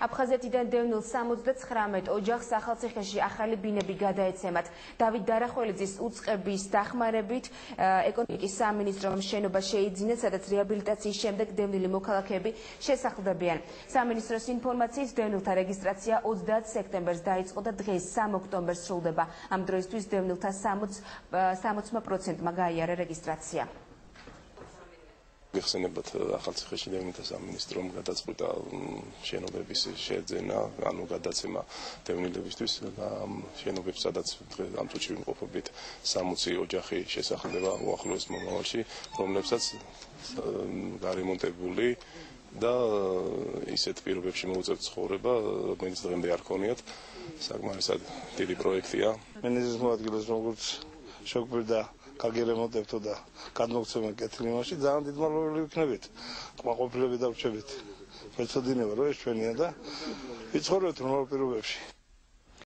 აფხაზეთიდან დევნილ 79 ოჯახს ახალციხეში ახალი ბინები გადაეცემათ. დავით დარახველიძის უწყების დახმარებით ეკონომიკის სამინისტრომ შენობა შეიძინა, სადაც რეაბილიტაციის შემდეგ დევნილი მოქალაქეები შესახლდებიან. სამინისტროს ინფორმაციით დევნილთა რეგისტრაცია 30 სექტემბერს დაიწყო და დღეს 3 ოქტომბერს სრულდება. ამ დროისთვის დევნილთა 60%-მა გაიარა რეგისტრაცია. გიხსენებათ ახალციხეში დევნილთა სამინისტრომ გადაწყვიტა შენობების შეძენა, ანუ გადაცემა დევნილებისთვის და შენობებს, სადაც ამ წუთში ვიმყოფებით 60 ოჯახი შესახლდება უახლოეს მომავალში, რომლებსაც გარემონტებული და ისეთ პირობებში მოუწევთ ცხოვრება, რომელიც დღემდე არ ქონიათ. საკმარისად დიდი პროექტია. მინისტრის მოადგილეს როგორც შეგვიძლია გაგერემონტებთო და გადმოგცემენ კეთილი მასში, ძალიან დიდმალოვანი ვიქნებით. კმაყოფილები და ვრჩებით. მეცოდინება რომ ეს ჩვენია და ვიცხოვრებთ ნორმალურ პირობებში.